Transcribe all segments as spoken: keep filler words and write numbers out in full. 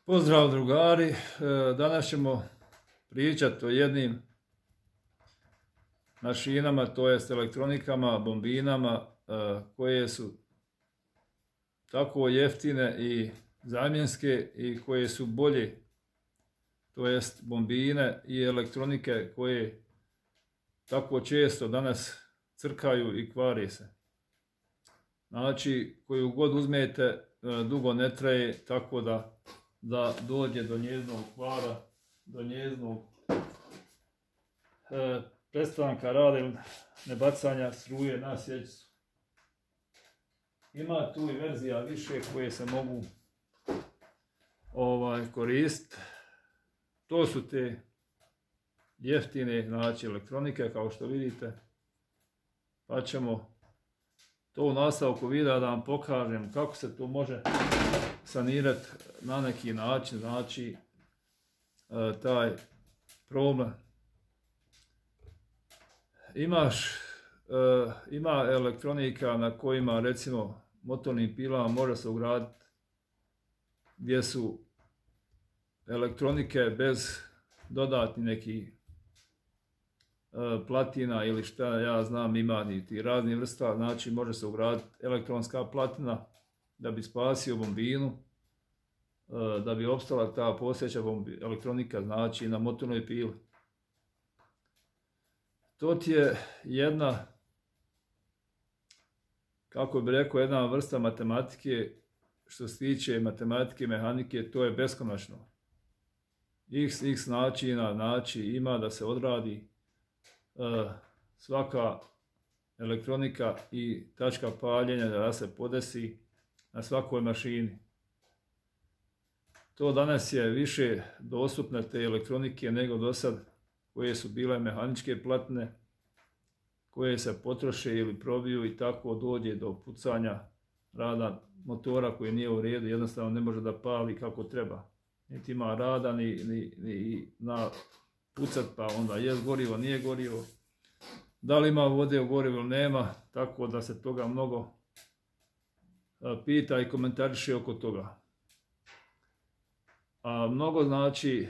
Pozdrav drugari, danas ćemo pričati o jednim mašinama, to jest elektronikama, bombinama koje su tako jeftine i zamjenske i koje su bolje, to jest bombine i elektronike koje tako često danas crkaju i kvari se. Znači, koju god uzmete, dugo ne traje, tako da da dođe do njezinog kvara, do njezinog e, prestanka rada ili nebacanja struje na svjećicu. Ima tu i verzija više koje se mogu ovaj, koristiti. To su te jeftine, znači, elektronike, kao što vidite. Pa ćemo to u nastavku videa da vam pokažem kako se to može sanirati na neki način, znači e, taj problem. Imaš, e, ima elektronika na kojima, recimo, motornim pilama može se ugraditi gdje su elektronike bez dodatnih nekih e, platina ili šta ja znam, ima i ti raznih vrsta, znači može se ugraditi elektronska platina da bi spasio bombinu, da bi opstala ta postojeća elektronika, znači na motornoj pili. To ti je jedna, kako bi rekao, jedna vrsta matematike, što se tiče matematike i mehanike, to je beskonačno. X, x načina, znači ima da se odradi uh, svaka elektronika i tačka paljenja da se podesi na svakoj mašini. To danas je više dostupne te elektronike nego do sad, koje su bile mehaničke platine, koje se potroše ili probiju i tako dođe do pucanja rada motora koji nije u redu, jednostavno ne može da pali kako treba. Niti ima rada, ni, ni, ni na pucat, pa onda je gorivo, nije gorivo. Da li ima vode u gorivu ili nema, tako da se toga mnogo pita i komentariše oko toga. A mnogo znači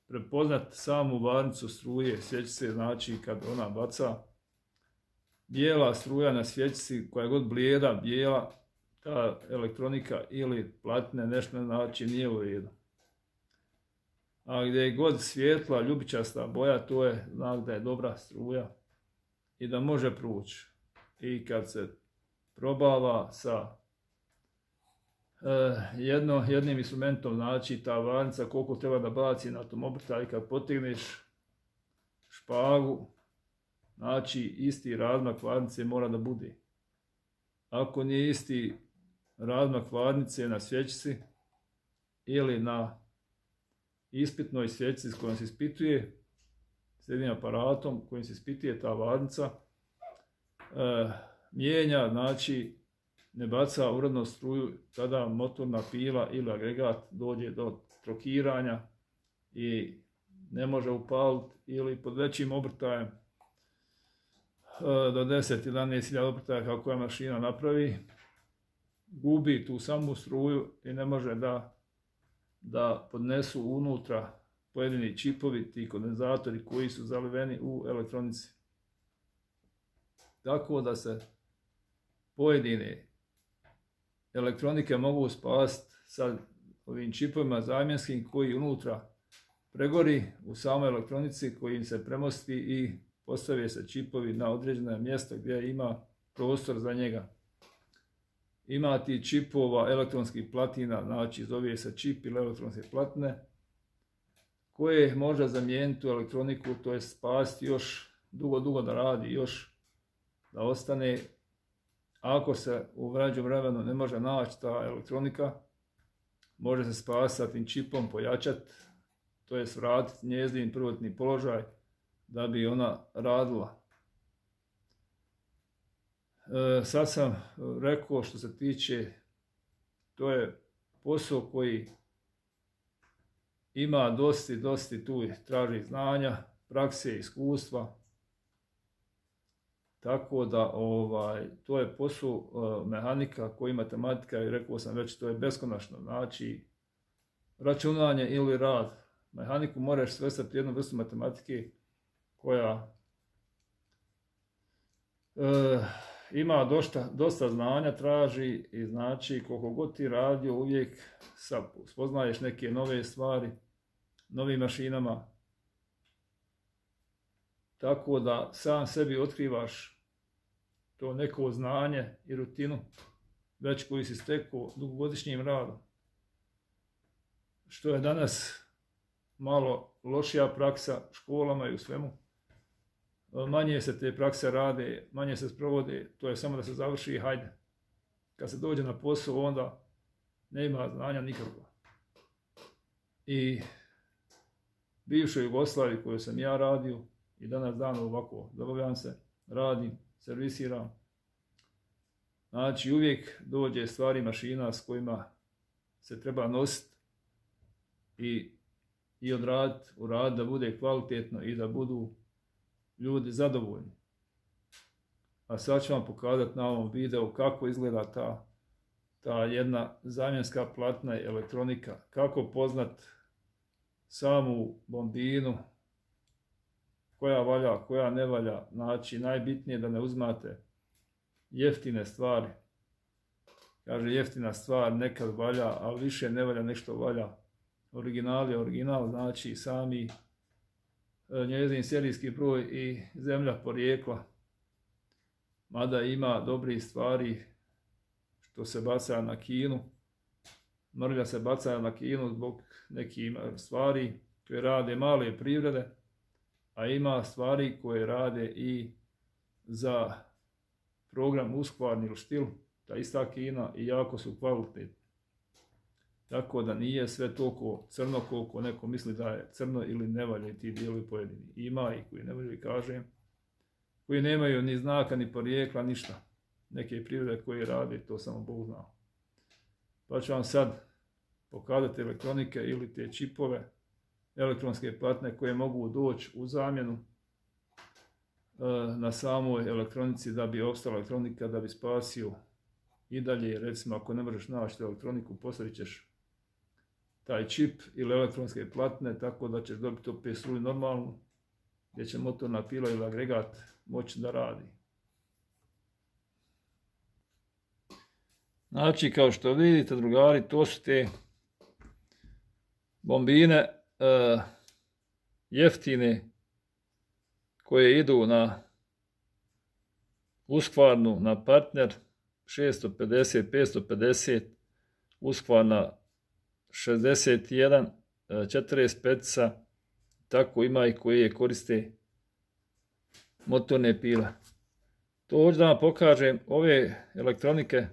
prepoznat samu varnicu struje svjećice, znači kad ona baca bijela struja na svjećici, koja je god blijeda, bijela, ta elektronika ili platine nešto znači nije u redu. A gdje je god svijetla, ljubičasta boja, to je znak da je dobra struja i da može proći. I kad se probava sa Jedno, jednim instrumentom, znači ta varnica koliko treba da baci na tom obrtaj, kad potegneš špagu, znači isti razmak varnice mora da bude. Ako nije isti razmak varnice na svjećici ili na ispitnoj svjećici s kojom se ispituje, s jednim aparatom kojim se ispituje ta varnica, e, mijenja, znači ne baca uredno struju, tada motorna pila ili agregat dođe do trokiranja i ne može upaliti ili pod većim obrtajem do deset do jedanaest hiljada obrtaja kako je mašina napravi, gubi tu samu struju i ne može da, da podnesu unutra pojedini čipovi, ti kondenzatori koji su zaliveni u elektronici. Tako da se pojedine elektronike mogu spasiti sa ovim čipovima zamjenskim koji unutra pregori u samoj elektronici, koji im se premosti i postave se čipovi na određeno mjesto gdje ima prostor za njega. Ima ti čipova elektronskih platina, znači zove se čip ili elektronske platine, koje može zamijeniti u elektroniku, to je spasiti još dugo, dugo da radi, još da ostane. Ako se u vrađom vremenu ne može naći ta elektronika, može se spasiti tim čipom, pojačati, to jest vratiti njezin prvotni položaj da bi ona radila. E, sad sam rekao što se tiče, to je posao koji ima dosti, dosti tu traži znanja, prakse, iskustva. Tako da ovaj, to je posao uh, mehanika koji matematika, i rekao sam već, to je beskonačno. Znači, računanje ili rad. Mehaniku moraš svrstati jednu vrstu matematike koja e, ima dosta, dosta znanja, traži i znači koliko god ti radio uvijek spoznaješ neke nove stvari, novim mašinama. Tako da sam sebi otkrivaš to neko znanje i rutinu već koji si stekao dugogodišnjim radom. Što je danas malo lošija praksa u školama i u svemu. Manje se te prakse rade, manje se sprovode, to je samo da se završi i hajde. Kad se dođe na posao, onda nema znanja nikakva. I bivšoj Jugoslaviji koju sam ja radio i danas dan ovako zabavljam se, radim, servisiram. Znači uvijek dođe stvari mašina s kojima se treba nositi i, i odraditi, uraditi da bude kvalitetno i da budu ljudi zadovoljni. A sad ću vam pokazati na ovom videu kako izgleda ta, ta jedna zamjenska platna elektronika. Kako poznat samu bombinu, koja valja, koja ne valja. Znači najbitnije je da ne uzmate jeftine stvari. Kaže jeftina stvar nekad valja, ali više ne valja, nešto valja. Original je original, znači sami njezin serijski broj i zemlja porijekla. Mada ima dobrih stvari što se baca na Kinu. Mrlja se baca na Kinu zbog nekih stvari koje rade male privrede, a ima stvari koje rade i za program uskvarni ili štil, ta ista Kina i jako su kvalitetni. Tako da nije sve toliko crno koliko neko misli da je crno ili ne valja ti dijelovi pojedini. Ima i koji ne valja, kažem, koji nemaju ni znaka, ni porijekla, ništa. Neke privrede koje rade, to samo Bog zna. Pa ću vam sad pokazati elektronike ili te čipove, elektronske platne koje mogu doći u zamjenu na samoj elektronici da bi opstala elektronika, da bi spasio i dalje. Recimo ako ne možeš naći elektroniku, postavit ćeš taj čip ili elektronske platne tako da ćeš dobiti opet struju normalnu gdje će motorna pila ili agregat moći da radi. Znači kao što vidite drugari, to su te bombine uh, jeftine koje idu na uskvarnu, na partner šesto pedeset, petsto pedeset, uskvarna šezdeset jedan, četrdeset pet, tako ima i koje koriste motorne pile. To hoću da vam pokažem, ove elektronike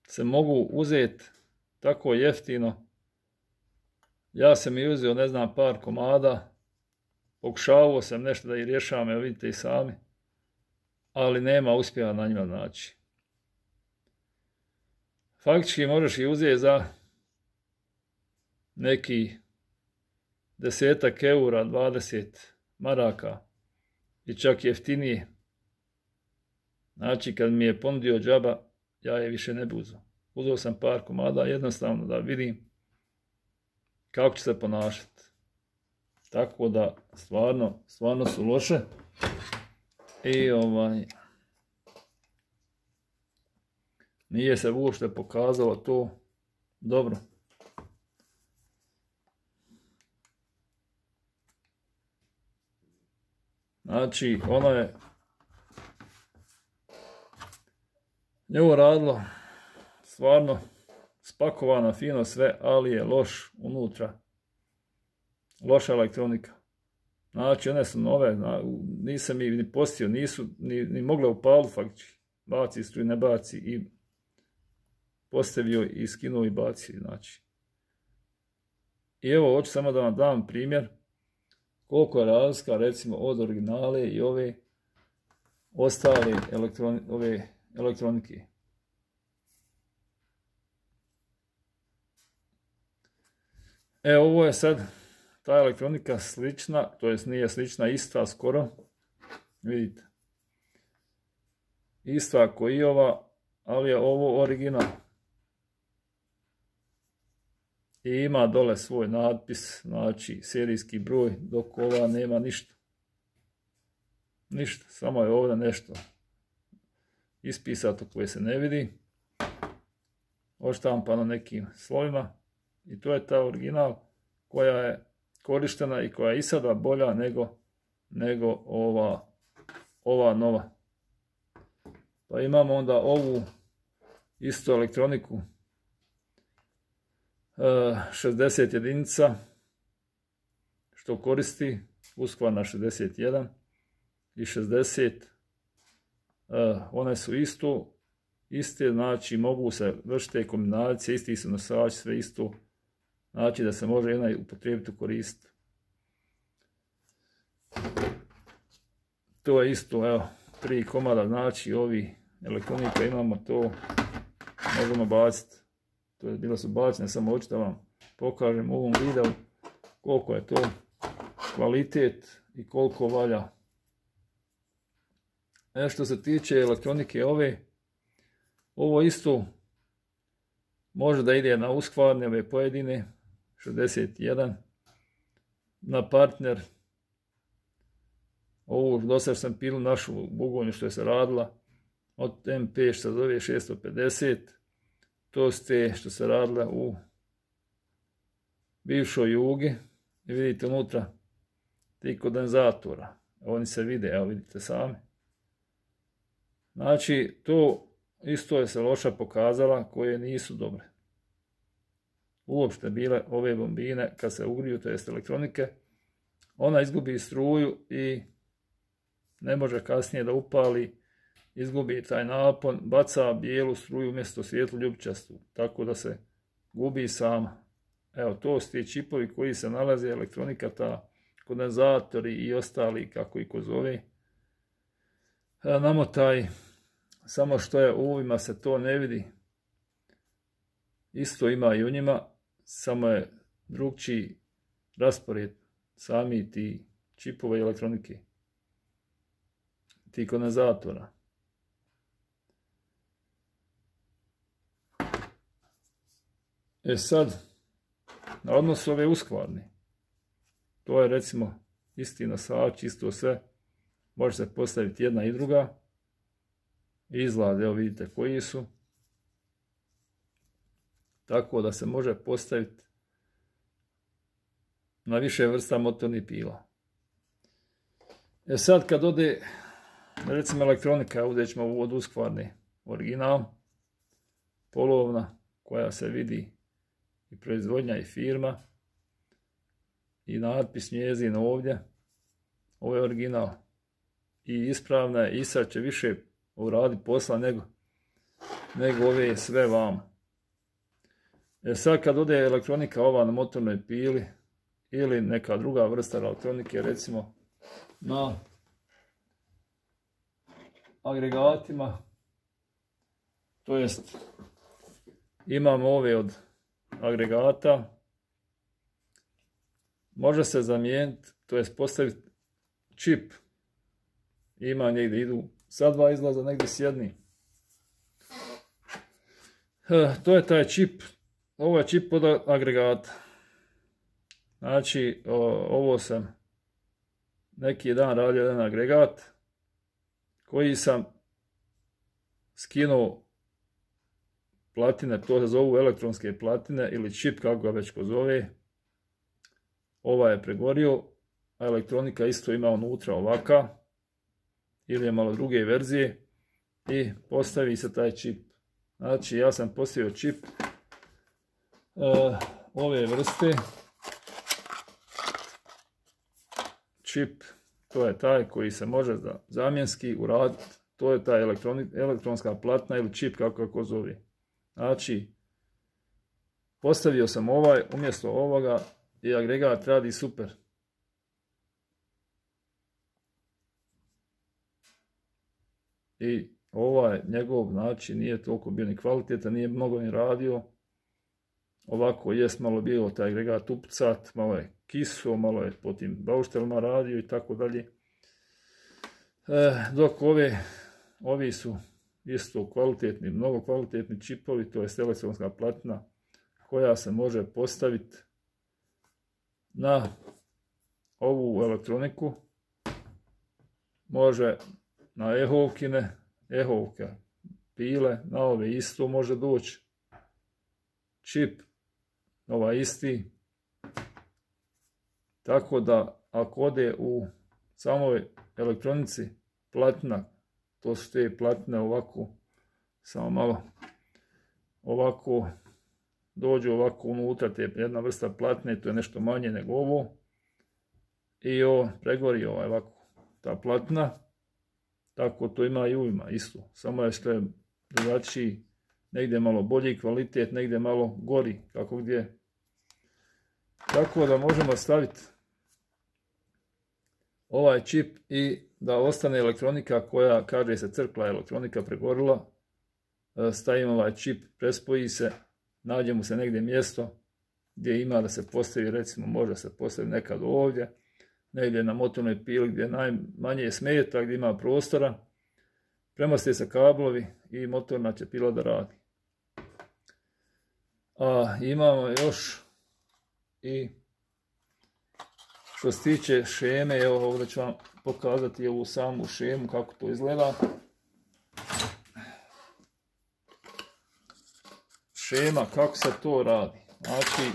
se mogu uzeti tako jeftino. Ja sam i uzeo, ne znam, par komada, pokušavao sam nešto da ih rješavam, evo vidite i sami, ali nema uspjeha na njima naći. Faktički možeš ih uzeti za neki desetak eura, dvadeset maraka i čak jeftinije. Znači kad mi je ponudio džaba, ja je više ne bi uzeo. Uzeo sam par komada jednostavno da vidim kako će se ponašati. Tako da stvarno, stvarno su loše. I ovaj nije se uopšte pokazalo to dobro. Znači, ono je njevo radilo stvarno spakovano, fino sve, ali je loš unutra. Loša elektronika. Znači, one su nove, nisam ih ni postio, nisu ni, ni mogle upaliti faktički. Baci struju, ne baci i postavio i skinuo i bacio, znači. I evo, hoću samo da vam dam primjer koliko je razlika, recimo, od originale i ove ostale elektroni, ove elektronike. E, ovo je sad ta elektronika slična, to jest nije slična, ista skoro. Vidite. Ista kao i ova, ali je ovo original. i ima dole svoj natpis, znači serijski broj, dok ova nema ništa. Ništa, samo je ovdje nešto ispisato koje se ne vidi, odštampano nekim slovima, i to je ta original koja je korištena i koja je i sada bolja nego, nego ova, ova nova. Pa imamo onda ovu istu elektroniku, šezdeset jedinica, što koristi Husqvarna šezdeset jedan i šezdeset, one su isto, iste, znači mogu se vršiti kombinacije, isti su nosači, sve isto, znači da se može jedna upotrijebiti koristiti. To je isto, evo, tri komada, znači ovi elektronika imamo, to možemo baciti. To je bilo su bačene, samo hoću da vam pokažem u ovom videu koliko je to kvalitet i koliko valja. E, što se tiče elektronike ove, ovo isto može da ide na Husqvarne, ove pojedine, šezdeset jedan, na partner. Ovu dosad sam pilu našu bugonju što je se radila, od M P što se zove šesto pedeset, to ste što se radile u bivšoj Jugi, i vidite unutra ti kondenzatora, oni se vide, evo vidite sami. Znači to isto je se loša pokazala, koje nisu dobre. Uopšte bile ove bombine kad se ugriju, to jest elektronike, ona izgubi struju i ne može kasnije da upali, izgubi taj napon, baca bijelu struju umjesto svijetlu ljubičastu, tako da se gubi sama. Evo, to su ti čipovi koji se nalaze, elektronika, ta kondenzatori i ostali, kako i ko zove. Namotaj, samo što je u ovima se to ne vidi. Isto ima i u njima, samo je drugčiji raspored sami ti čipove i elektronike, ti kondenzatora. E sad, na odnosu ove Husqvarne, to je recimo isti nosač, isto sve, može se postaviti jedna i druga, izgled, evo vidite koji su, tako da se može postaviti na više vrsta motornih pila. E sad kad ode, recimo elektronika, ovdje ćemo u od Husqvarne original, polovna, koja se vidi i proizvodnja i firma, i natpis njezin ovdje, ovo je original, i ispravna je, i sad će više uraditi posla nego, nego ove sve vam. E sad kad ode elektronika ova na motornoj pili, ili neka druga vrsta elektronike, recimo na agregatima, to jest imamo ove od agregata, može se zamijeniti, to jest postaviti čip, ima negdje idu sa dva izlaza, negdje s jednim. To je taj čip, ovo je čip od agregata. Znači, ovo sam neki dan radio jedan agregat koji sam skinuo platine, to se zovu elektronske platine ili čip, kako ga već ko zove. Ova je pregorio, a elektronika isto ima unutra ovaka, ili je malo druge verzije, i postavi se taj čip. Znači, ja sam postavio čip uh, ove vrste. Čip, to je taj koji se može zamjenski uraditi, to je ta elektronska platna ili čip, kako kako zove. Znači, postavio sam ovaj umjesto ovoga i agregat radi super. I ovaj njegov, znači, nije toliko bio ni kvalitetan, nije mnogo ni radio. Ovako jest malo bilo taj agregat upcat, malo je kiso, malo je po tim bauštelima radio i tako dalje. E, dok ove, ovi su isto kvalitetni, mnogo kvalitetni čipovi, to je elektronska platna koja se može postaviti na ovu elektroniku. Može na ehovkine, ehovke pile, na ove isto može doći čip, ovaj isti. Tako da ako ode u samoj elektronici platina, to su te platine ovako, samo malo ovako, dođu ovako unutra, te jedna vrsta platine, to je nešto manje nego ovo. I ovo pregori ovaj ovako, ta platina, tako to ima i uvima isto, samo je što je drugačiji, negdje malo bolji kvalitet, negdje malo gori, kako gdje. Tako da možemo staviti ovaj čip i da ostane elektronika koja, kaže se, crkla elektronika, pregorila. Stavimo ovaj čip, prespoji se, nađe mu se negdje mjesto gdje ima da se postavi, recimo može se postaviti nekad ovdje, negdje na motornoj pili gdje najmanje smeta, gdje ima prostora. Premosti se kablovi i motorna će pila da radi. A imamo još i što se tiče šeme, evo ovdje ću vam pokazati ovu samu šemu kako to izgleda. Šema, kako se to radi. Znači,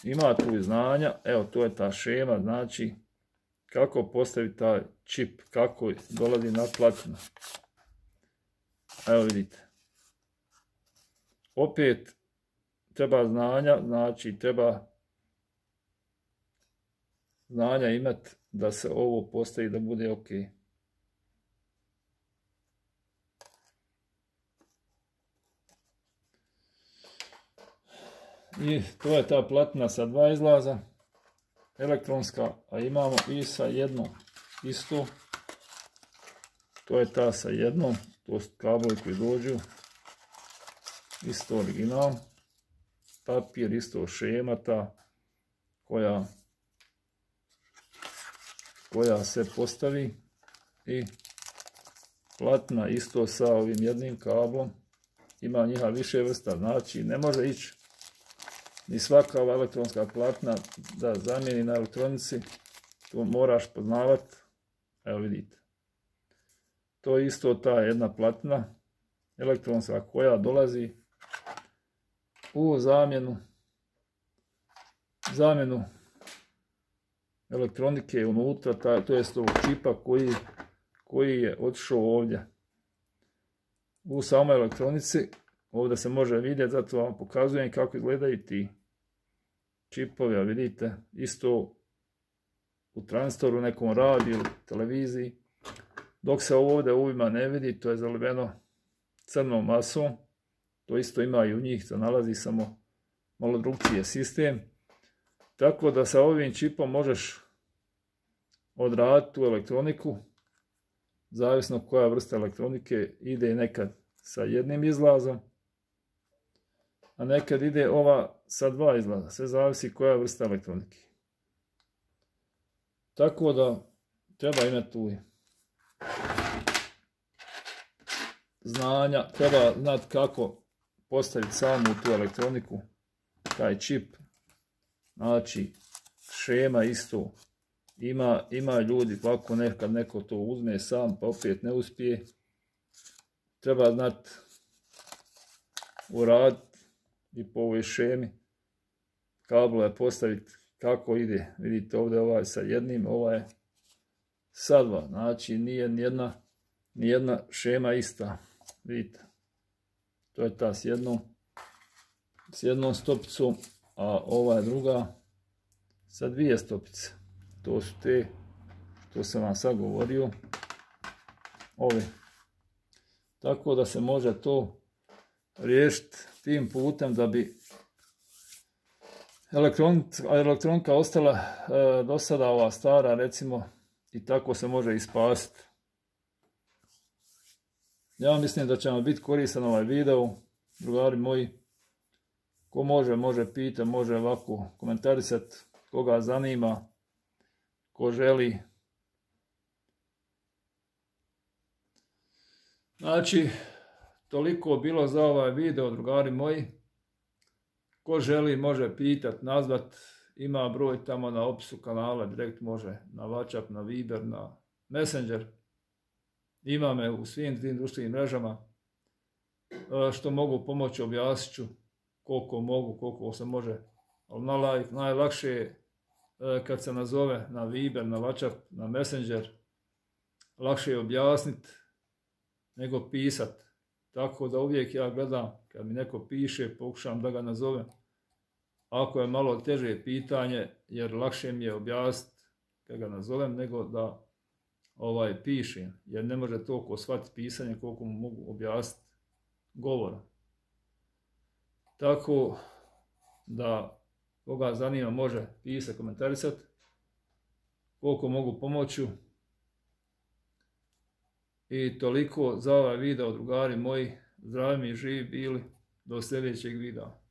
ima tu i znanja, evo to je ta šema, znači kako postaviti taj čip, kako dolazi na platinu. Evo vidite. Opet treba znanja, znači treba znanja imati da se ovo postavi da bude ok. I to je ta platina sa dva izlaza, elektronska, a imamo i sa jednom isto. To je ta sa jednom, to su kablovi koji dođu, isto original. Papir, isto šema ta koja, koja se postavi i platina isto sa ovim jednim kablom. Ima njiha više vrsta, znači ne može ići ni svaka ova elektronska platina da zamijeni na elektronici, to moraš poznavati. Evo vidite. To je isto ta jedna platina elektronska koja dolazi u zamjenu zamjenu elektronike unutra, ta, to jest ovog čipa koji, koji je otišao ovdje. U samoj elektronici, ovdje se može vidjeti, zato vam pokazujem kako izgledaju ti čipovi, a vidite, isto u tranzistoru, nekom radiju ili televiziji. Dok se ovdje uvima ne vidi, to je zaliveno crnom masom, to isto ima i u njih, to nalazi samo malo drugčije sistem. Tako da sa ovim čipom možeš odraditi tu elektroniku, zavisno koja vrsta elektronike, ide nekad sa jednim izlazom, a nekad ide ova sa dva izlaza, sve zavisi koja vrsta elektronike. Tako da treba imati tu znanja, treba znati kako postaviti samu tu elektroniku, taj čip. Znači, šema isto, ima, ima ljudi, ovako nekad neko to uzme sam pa opet ne uspije. Treba znati uraditi i po ovoj šemi, kablove postaviti kako ide. Vidite ovdje ovaj sa jednim, ovaj sa dva, znači nije nijedna, nijedna šema ista. Vidite, to je ta s jednom, s jednom stopicom, a ova je druga sa dvije stopice. To su te što sam vam sad govorio, ove. Tako da se može to riješiti tim putem da bi elektronika ostala e, do sada ova stara, recimo, i tako se može i spasiti. Ja mislim da će vam biti koristan ovaj video, drugari moji. Ko može, može pita, može ovako komentarisati, koga zanima, ko želi. Znači, toliko bilo za ovaj video, drugari moji. ko želi može pitat, nazvat, ima broj tamo na opisu kanala, direkt može na WhatsApp, na Viber, na Messenger. Ima me u svim tim društvenim mrežama. Što mogu pomoći, objasnit ću koliko mogu, koliko se može. Ali naj, najlakše je kad se nazove na Viber, na WhatsApp, na Messenger, lakše je objasniti nego pisat. Tako da uvijek ja gledam, kad mi neko piše, pokušam da ga nazovem. Ako je malo teže pitanje, jer lakše mi je objasniti kad ga nazovem, nego da ovaj, pišem. Jer ne može toliko shvatiti pisanje koliko mu mogu objasniti govorom. Tako da koga zanima može pisati, komentarisati. Koliko mogu pomoći. I toliko za ovaj video, drugari moji. Zdravi mi i živi bili. Do sljedećeg videa.